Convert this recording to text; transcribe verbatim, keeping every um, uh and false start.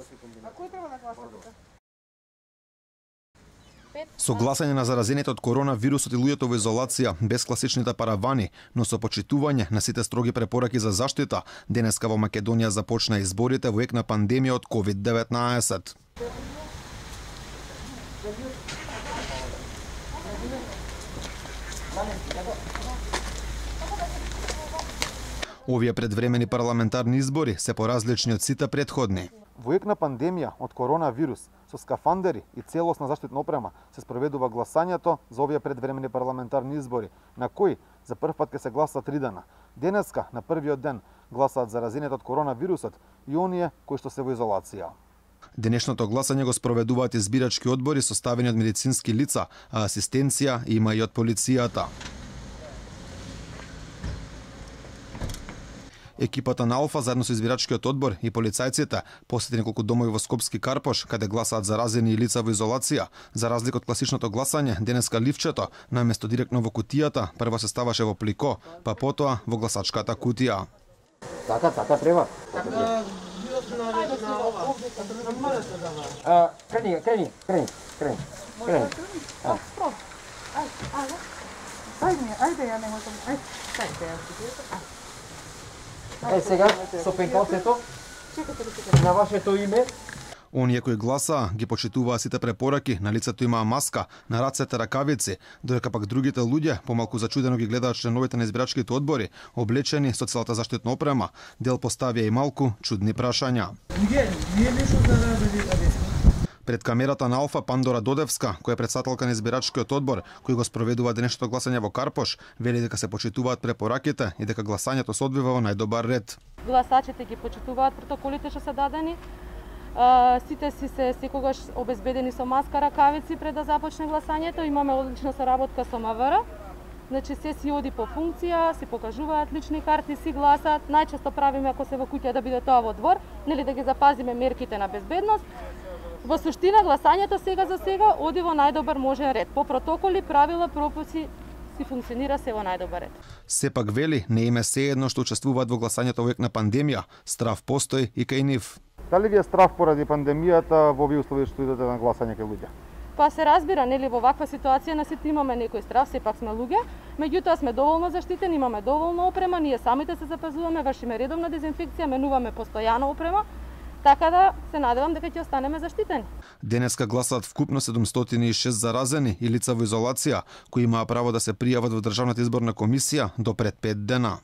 А кој треба да гласате? Со гласање на заразените од коронавирусот и луѓето во изолација, без класичните паравани, но со почитување на сите строги препораки за заштита, денеска во Македонија започна изборите во ек на пандемија од ковид деветнаесет. Овие предвремени парламентарни избори се поразлични од сите претходни. Во ек на пандемија од коронавирус, со скафандери и целосна заштитна опрема се спроведува гласањето за овие предвремени парламентарни избори, на кои за прв пат ќе се гласа три дена. Денеска, на првиот ден, гласаат заразените од коронавирусот и оние кои што се во изолација. Денешното гласање го спроведуваат избирачки одбори составени од медицински лица, а асистенција има и од полицијата. Екипата на Алфа заедно со избирачкиот одбор и полицајците посети неколку домови во Скопски Карпош, каде гласаат заразени и лица во изолација. За разлика од класичното гласање, денеска ливчето, наместо директно во кутијата, прво се ставаше во плико, па потоа во гласачката кутија. Така, така треба. Крени, крени, крени, крени, крени. Ајде, ајде, ја не можам. Ајде, ајде. Е, сега, со пенкалцето, на вашето име. Оние кои гласаа ги почитуваа сите препораки, на лицето имаа маска, на рацете ракавици, додека пак другите луѓе помалку зачудено ги гледаат членовите на избирачките одбори, облечени со целата заштитна опрема, дел поставија и малку чудни прашања. Пред камерата на Алфа Пандора Додевска, која е председателка на избирачкиот одбор, кој го спроведува денешното гласање во Карпош, вели дека се почитуваат препораките и дека гласањето се одвива во најдобар ред. Гласачите ги почитуваат протоколите што се дадени. Сите си се секогаш обезбедени со маска, ракавици пред да започне гласањето. Имаме одлична соработка со МВР. Значи се си оди по функција, си покажуваат лични карти, си гласаат. Најчесто правиме ако се во куќа да биде тоа во двор, нели да ги запазиме мерките на безбедност. Во суштина гласањето сега за сега оди во најдобар можен ред. По протоколи, правила, прописи си функционира се во најдобар ред. Сепак вели, не име се едно што учествуваат во гласањето во ек на пандемија, страв постои и кај нив. Дали ви е страв поради пандемијата во овие услови што идете на гласање кај луѓе? Па се разбира, нели во ваква ситуација на сите имаме некој страв, сепак сме луѓе, меѓутоа сме доволно заштитени, имаме доволно опрема, ние самите се запазуваме, вршиме редовна дезинфекција, менуваме постојано опрема. Така да се надевам дека ќе останеме заштитени. Денеска гласаат вкупно седумстотини и шест заразени и лица во изолација, кои имаа право да се пријават во Државната изборна комисија до пред пет дена.